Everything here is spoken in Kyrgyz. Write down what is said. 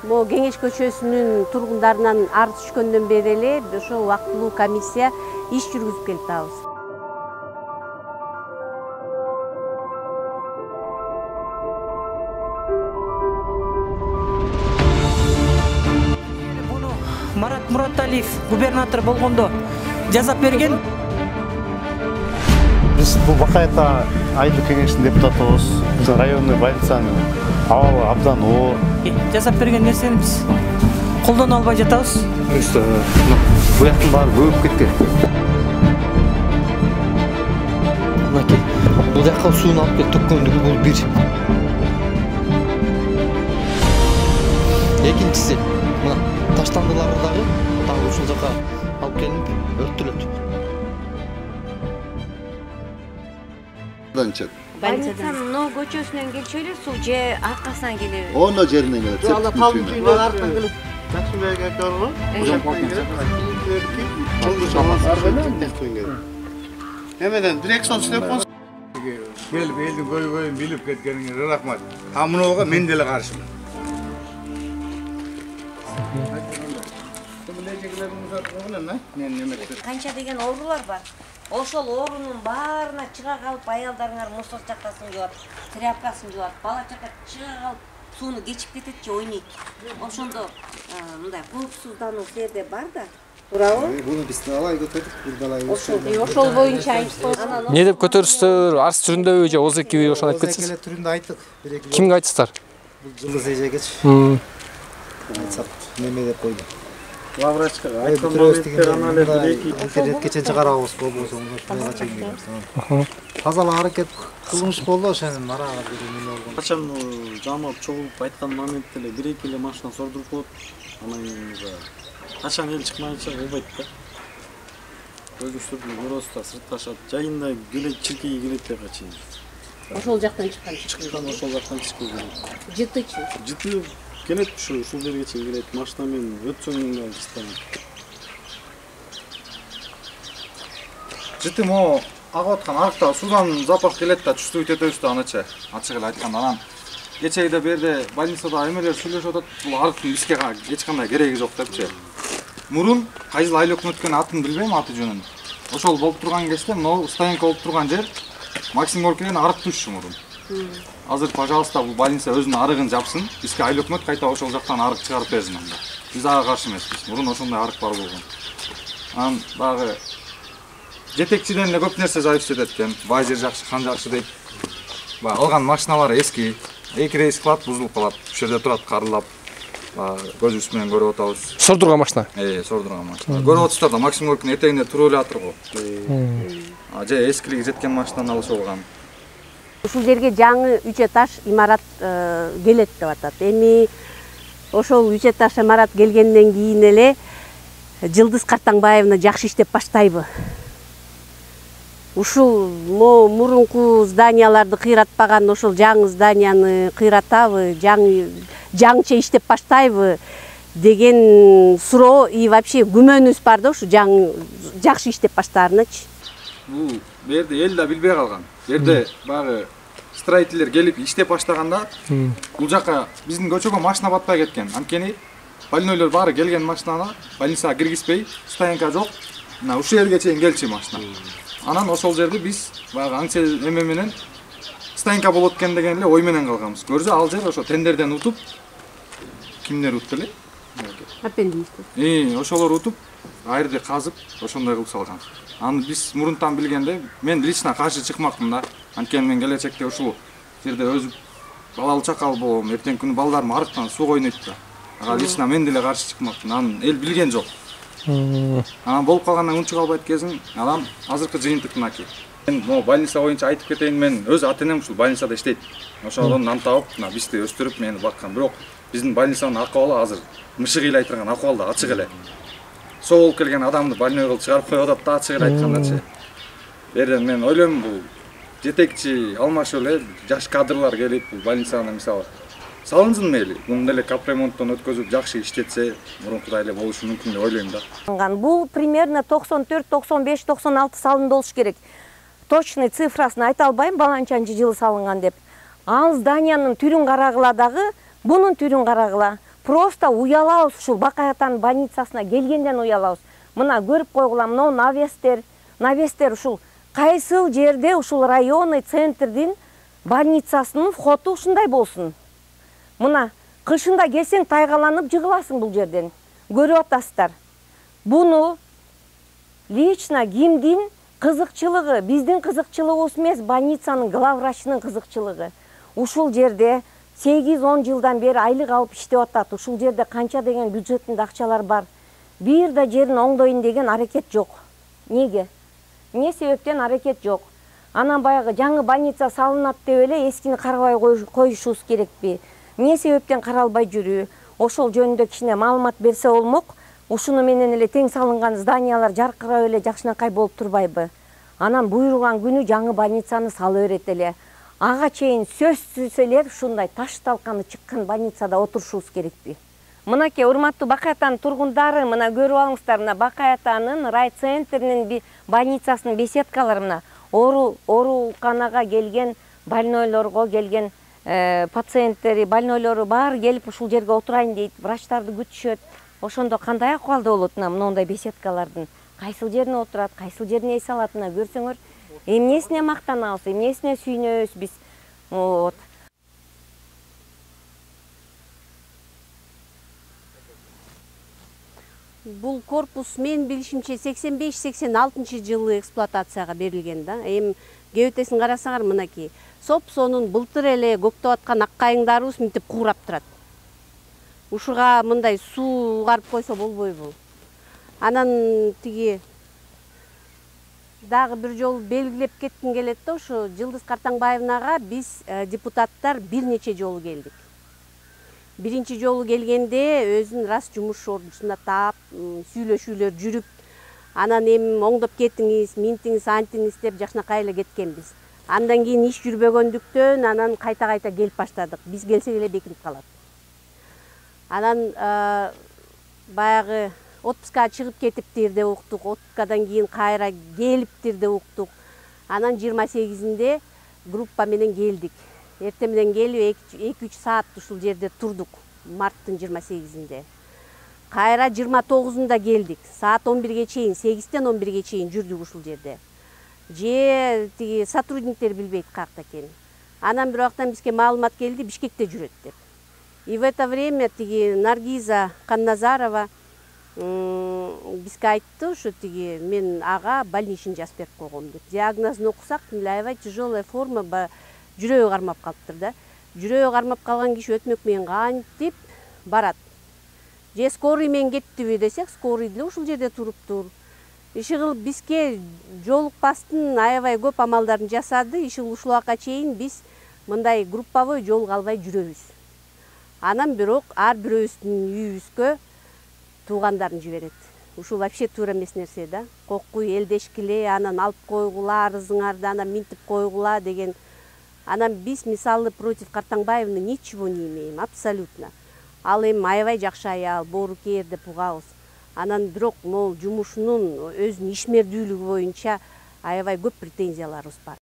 Могу Кеңеш көчөсүнүн тургундарынан арыз түшкөндөн бери эле ошо убактылуу комиссия иш жүргүзүп келип атабыз. Муну Марат Мураталиев губернатор болгондо жазап берген. Биз бул Бакайта айылдык кеңештин депутатыбыз. Биздин районный больницанын абалы абдан оор. Жасап берген нерсени биз колдоно албай жатабыз. Буяктын баары көбүп кеткен. Мынакей, бул жака сууну алып келип төккөндүгү бул бир. Экинчиси, мына таштандылар дагы ушул жака алып келип өрттөлөт. Больницанын Но көчөсүнөн келчү эле суу же аркасынан келеби? Оно жеринен келет. Ала талдын түйүнөн аркан келип Жакшыбек ака бар го. Эмеден дирекцион телефон келип элдин көйгөйүн билип кеткениңизе рахмат. А мунуга мен деле каршымын. Канча деген оорулар бар. Ошол оорунун баарына чыга калып аялдарыңар мусор чакасын жуат, тряпкасын жуат, бала чака чыга калып сууну кечип кетет же ойнойт. Ошондо мындай коопсуздануу жерде бар да. Туурабы? Буну биз алай көтөрдүк, Ошол боюнча айтып Не деп көтөрүштүр? Арыз түрүндөбү же ОЗЭКби ошону айтып кетсиз? түрүндө айттык. Кимге айтсыздар? Жылдыз эжегечи. Айтсак, неме деп койду. Главврачка айткан моментте гана эле интернетке чейин чыгарабыз болбосо ошондой чейин. Тазалаа аракет кылмыш болду ошонун марага неме болгон. Качан жамап чогулуп айткан моментте эле бир-эки эле машина сордуруп коет. Анан качан эл чыкмайынча болбойт да. Өзүбүздү көрөбүз да сыртташат. Жайында келет, чиркеге келет деп качан. ошол жактан чыккан. Чыккан ошол жактан чыккан келет. Жытычы. Жыты келет ушул жерге чейин келет. Машина менен өтсөң да жыстан. Жыты мо агып аткан арыкта суудан запах келет да чувствовать этебиз да анача. Ачык эле айтканда анан кечеде берде больницада эмелер сүйлөшүп атат. Бул арыктын бизге эч кандай кереги жок депчи. Мурун кайсыл айлык өткөн атын билбейм, аты жөнүн. Ошол болуп турган кезде могу стоянка болуп турган жер Максим Горкийден арык түшчү мурун. Азыр, пожалуйста, бул больница өзүнүн арыгын жапсын. Бизге айлык өкмөт кайта ошол жактан арык чыгарып берсин анда. Биз ага каршы эмеспиз. Мурун ошондой арык бар болгон. Анан дагы жетекчиден эле көп нерсе зависит этет экен. Бай жер жакшы, хан жакшы дейт. Алган машиналар эски. Эки рейс кылат, бузулуп калат. Ушул жерде турат карылап. Көзүбүз менен көрүп атабыз. Сордурган машина. Сордурган машина. Көрүп атасыздар да, Максим Горкийдин этегинде туруп эле атыр го. Же эскилиги жеткен машинаны алышып алган. Ушул жерге жаңы 3 этаж имарат келет деп атат. Эми ошол 3 этаж имарат келгенден кийин эле Жылдыз Картаңбаевна жакшы иштеп баштайбы? Ушул мурунку зданияларды кыйратпаган ошол жаңы зданияны кыйратабы, жаңыча иштеп баштайбы деген суроо и вообще күмөнүбүз бар да, ушу жакшы иштеп баштаарыначы. Бул жерде эл да билбей калган. Жерде багы строительдер келип иштеп баштаганда бул жака биздин көчөгө машина батпай кеткен. Анткени больнойлор баары келген машинаны больницага киргизбей, стоянка жок. Мына ушул жерге чейин келчү машина. Анан ошол жерди биз багы аңча эме менен стоянка болот экен деген эле ой менен калганбыз. Көрсө ал жер ошо тендерден утуп кимдер утты эле? Аппендистер. Ошолор утуп, айрды казып, ошондой кылып салган. Аны биз мурунтан билгенде, мен лично каршы чыкмакмын да. Анткени мен келечекте ушул жерде өзүм балалуу чакал болом, эртең күнү балдарым арыктан суу ойнойт да. Ага лично мен деле каршы чыкмакмын. Аны эл билген жок. Анан болуп калгандан унчук албайт кезин, анан азыркы жыйынтык мынакей. Мен могу больница боюнча айтып кетейин, мен өз ата-энем ушул больницада иштейт. Ошондон нам таап, мына бизди өстүрүп, мени баккан. Бирок биздин больницанын акыбалы азыр мышык ыйлай турган акыбалда ачык эле. Соо болуп келген адамды больной кылып чыгарып коюп атат да, ачык эле айткандачы. Берден мен ойлойм, бул жетекчи алмашып эле жаш кадрлар келип, бул больницаны мисалы салынсын мейли. Муну эле капремонттон өткөзүп жакшы иштетсе, мурункудай эле болушу мүмкүн деп ойлойм да. Бул примерно 94, 95, 96 салында болуш керек. Точный цифрасын айта албайм, баланчанчы жылы салынган деп. Ал зданиянын түрүн карагыла дагы, бунун түрүн карагыла. просто уялабыз ушул Бакай атанын больницасына келгенден уялабыз. Мына көрүп койгула, мына навестер ушул кайсыл жерде ушул районный центрдин больницасынын входу ушундай болсун. Мына кышында келсең тайгаланып жыгыласың бул жерден. Көрүп атасыздар. Буну лично кимдин кызыкчылыгы, биздин кызыкчылыгыбыз эмес, больницанын главврачынын кызыкчылыгы. Ушул жерде 8-10 жылдан бери айлык алып иштеп атат. Ушул жерде канча деген бюджеттинде акчалар бар. Бир да жерин оңдойн деген аракет жок. Неге? Эмне себептен аракет жок? Анан баягы жаңы больница салынат деп эле эскини карабай коюшубуз керекпи? Эмне себептен каралбай жүрүү? Ошол жөнүндө кичине маалымат берсе болмок. Ушуну менен эле тең салынган зданиялар жаркырап эле жакшынакай болуп турбайбы? Анан буйруган күнү жаңы больницаны сала берет эле. Ага чейин сөзсүз эле ушундай таш талканы чыккан больницада отурушубуз керекпи? Мынакей, урматтуу Бакай атанын тургундары, мына көрүп алыңыздар, мына Бакай атанын райцентринин больницасынын беседкалары, мына ооруканага келген больнойлорго келген пациенттери, больнойлору баары келип ушул жерге отурайын дейт, врачтарды күтүшөт. Ошондо кандай акыбалда болот мындай беседкалардын? Кайсыл жерине отурат, кайсыл жерине эс алатына көрсөңөр, эмнесине мактанабыз, эмнесине сүйүнөбүз биз. Бул корпус мен билишимче 85-86 жылы эксплуатацияга берилген да. Эми кебетесин карасаңар, мынакей соп-сонун былтыр эле көктөп аткан ак кайыңдарыбыз мынтип куурап турат. Ушуга мындай суу угарып койсо болбойбу? Анан тиги дагы бир жолу белгилеп кетким келет да, ушу Жылдыз Картаңбаевнага биз депутаттар бир нече жолу келдик. Биринчи жолу келгенде өзүнүн рас жумуш ордусунда таап, сүйлөшүүлөр жүрүп, анан эми оңдоп кетиңиз, минтиңиз, антиңиз деп жакшынакай эле кеткенбиз. Андан кийин иш жүрбөгөндүктөн анан кайта келип баштадык. Биз келсек эле бекинип калат. Анан баягы отпускага чыгып кетиптир деп уктук. Отпускадан кийин кайра келиптир деп уктук. Анан 28-inde группа менен келдик. Эртең менен келип 2-3 саат ушул жерде турдук. Марттын 28-inde. Кайра 29-unda келдик. Саат 11-ге чейин, 8-тен 11-ге чейин жүрдүк ушул жерде. Же тиги сотрудниктер билбейт каякта экенин. Анан бир убактан бизге маалымат келди, Бишкекте жүрөт деп. И в это время тиги Наргиза Канназарова бизге айтты, ушу тиги мен ага больничный жазып берип койгом деп. Диагнозун окусак, аябай тяжелая форма, жүрөгү кармап калыптыр да. Жүрөгү кармап калган киши өтмөк менен кантип барат. Же скорый менен кеттиби десек, скорый деле ушул жерде туруптур. Ишигыл бизге жолукпастын аябай көп амалдарын жасады. Ишигыл ушул убакка чейин биз мындай групповой жолуга албай жүрөбүз. Анан бирок ар бирөөбүздүн үйүбүзгө туугандарын жиберет. Ушул вообще туура эмес нерсе да. Кокуй элдешкиле, анан алып койгула, арызыңарды анан минтип койгула деген. Анан биз мисалы против Картаңбаевны ничего не имеем, абсолютно. Ал эми аябай жакшы аял, боорукер деп угабыз. Анан бирок могул жумушунун өзүнүн ишмердүүлүгү боюнча аябай көп претензияларыбыз бар.